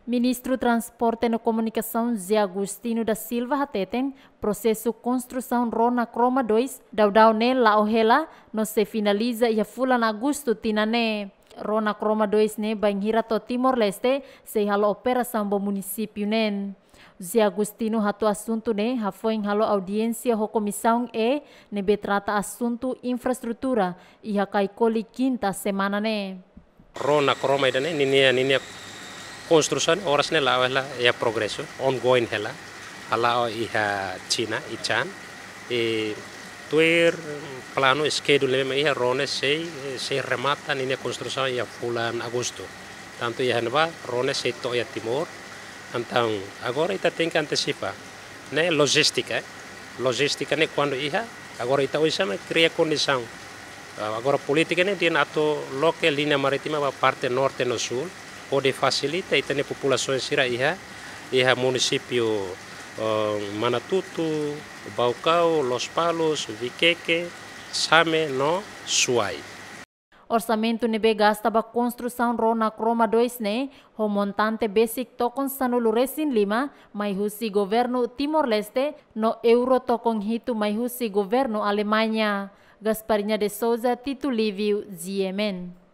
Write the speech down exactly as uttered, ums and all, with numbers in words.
Ministru Transporte no Komunikasaun José Agostinho da Silva hateten, prosesu konstrusaun Rona Kroma dois daudaun ne'e la'o hela, no sei finaliza iha fulan Agostu tinan ne'e. Rona Kroma dois ne'e bainhira to'o Timor-Leste sei halo operasaun ba munisípiu neen. José Agostinho hato'o asuntu ne'e hafoin halo audiénsia ho Komisaun E ne'ebé trata asuntu infraestrutura iha Caicoli, kinta semana ne'e. Rona Kroma ida-ne'e, ninia, ninia konstrusaun oras ne'e la'o hela, iha progresu, ongoing hela, hala'o iha Xina, Ichan. I tuir planu, schedule ne'ebé iha, rona sei, sei remata ninia konstrusaun iha fulan Agostu. Tantu iha ne'ebá, rona sei to'o iha Timor. Entaun, agora ita tenke antesipa, ne'e lojístika, eh? Lojístika ne'e kuandu iha, agora ita oinsá mak kria kondisaun. Ah, agora polítika ne'e dehan atu loke liña marítima ba parte norte no súl, hodi fasilita ita-nia populasaun sira iha, iha munisípiu, eh, Manatuto, Baucau, Lospalos, Viqueque, Same no Suai. Orsamentu ne'ebé gasta ba konstrusaun Rona Kroma dois ne'e, ho montante besik tokon sanulu-resin-lima, mai husi governu Timor-Leste, no euro tokon hitu mai husi governu Alemaña. Gasparinha de Souza, Tito Livio, G M N.